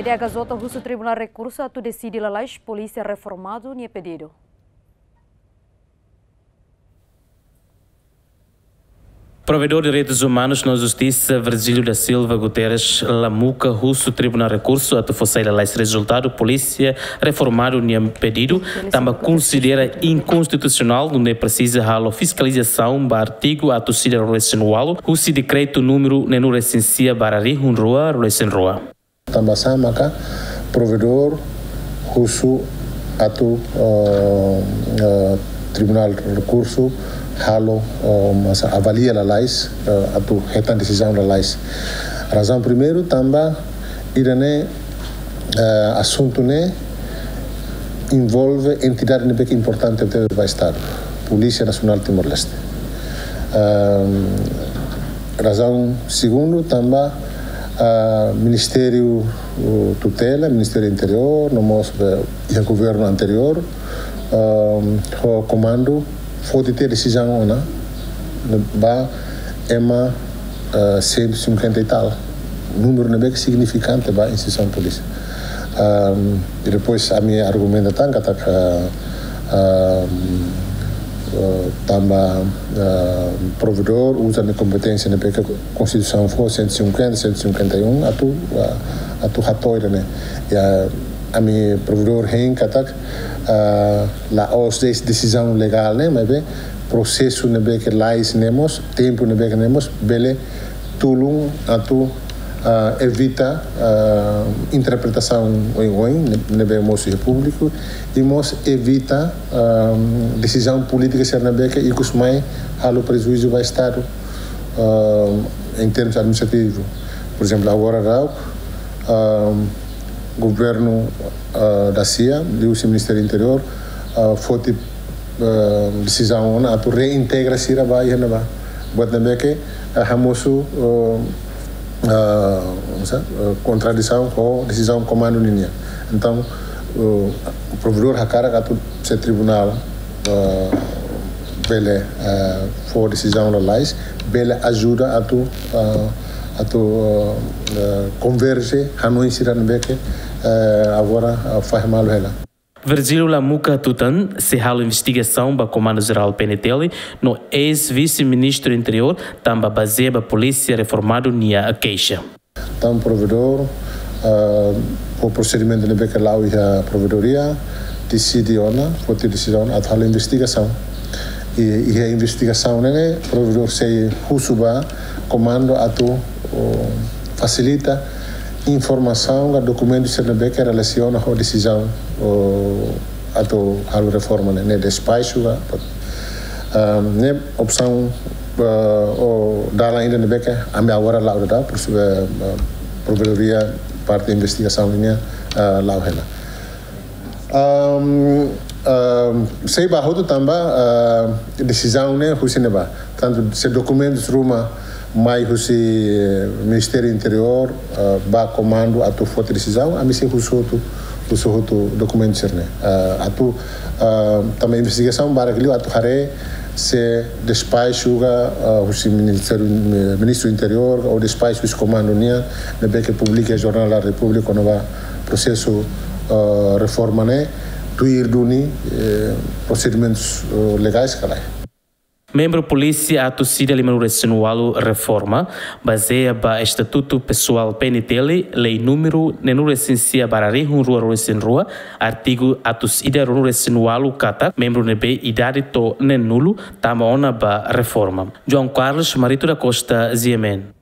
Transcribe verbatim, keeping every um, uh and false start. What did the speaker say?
T H J husu Tribunál Rekursu atu deside lalais polísia reformadu nia pedidu. Provedór Direitus Umanus no Justisa, Virgílio da Silva Guterres Lamuca, husu Tribunál Rekursu atu fó sai lalais rezultadu polísia reformadu nia pedidu, tanba konsidera inkonstitusionál, nune'e presiza halo fiskalizasaun ba artigu atus ida ruanulu-resin-ualu, husi dekretu númeru neenulu-resin-sia barra rihun rua ruanulu-resin-rua. Tanba sá maka provedór husu atu, eh, eh, Tribunál Rekursu halo, eh, masa avalia lalais, eh, atu hetan desizaun lalais. Razaun primeiru, tanba ida-ne'e, eh, asuntu ne'e envolve entidade ne'ebé ke importante tebes ba Estadu, Polísia Nasionál Timor-Leste. Ehm, razaun segundu, tanba, ah, Ministériu, uh, tutela, Ministériu Interiór, no mós, eh, iha governu anteriór, ehm, ho komandu foti tiha desizaun ona ba ema, eh, cento e cinquenta e tal. Númeru ne'ebé ke signifikante ba instituisaun polísia. Ehm, i depois ami argumenta tan katak, eh, ehm, eh, tanba, eh, provedór uza nia kompeténsia ne'ebé ke Konstituisaun fó, cento e cinquenta, cento e cinquenta e um, atu, eh, atu hato'o ida-ne'e. I ami provedór hein katak, eh, la'ós de'it desizaun legál ne'e, maibé prosesu ne'ebé ke lais ne'e mós, tempu ne'ebé ke ne'e mós, bele tulun atu, ah, evita, ah, interpretasaun oioin, ne-, ne'ebé mosu iha públiku, i mós evita, ah, desizaun polítika sira ne'ebé ke ikus mai halo prejuízu ba Estadu, ah, em termos administrativu. Por ezemplu, agora daudaun, ah, governu, ah, da sia, liuhusi Ministériu Interiór, ah, foti, ah, desizaun ona atu reintegra sira ba iha ne'ebá. Buat ne'ebé ke, ah, hamosu, ah, ah, sa-, ah, kontradisaun ho desizaun komandu ninian. Entaun, ah, provedór hakarak atu se tribunál, ah, bele, ah, fó desizaun lalais, bele ajuda atu, ah, atu, ah, ah, konverje hanoin sira ne'ebé ke, ah, agora, ah, fahe malu hela. Virgílio Lamuca hatutan sei halo investigasaun ba Komandu Jerál P N T L no eis-vise-ministru Interiór, tanba bazeia ba polísia reformadu nia keixa. Entaun provedór, ah, ho prosedimentu ne'ebé ke la'o iha provedoria, deside ona, foti desizaun atu halo investigasaun. I, iha investigasaun ne'e, provedór sei husu ba komandu atu, oh, fasilita informasaun ka dokumentu sira ne'ebé ke relasiona ho desizaun, oh, atu halo reforma ne'e, ne'e despaxu ka, ah, ne'e opsaun, ah, ou dalan ida ne'ebé ke ami agora la'o daudaun, por isso, eh, eh, provedoria parte investigasaun nian, ah, la'o hela. Ahm, ahm, sei ba hotu tanba, ah, desizaun ne'e husi ne'ebá. Tantu se dokumentus ruma mai husi, eh, Ministériu Interiór, ah, ba komandu atu foti desizaun, ami sei husu hotu, husu hotu dokumentu sira-ne'e. Ah, atu, ah, tanba investigasaun barak liu atu haree se despaxu ka, ah, husi Ministériu, Ministru Interiór, ou despaxu husi komandu nian, ne'ebé ke publika iha Jornál da Repúblika, kona-ba prosesu, ah, reforma ne'e, tuir duni, eh, prosedimentus, eh, legais ka lae. Membru polísia atus ida limanulu-resin-ualu reforma, bazeia ba Estatutu Pesoál P N T L, lei númeru neenulu-resin-sia barra rihun rua ruanulu-resin-rua, artigu atus ida ruanulu-resin-ualu katak membru ne'ebé idade to'o neenulu tama ona ba reforma. João Carlos Marito da Costa, G M N.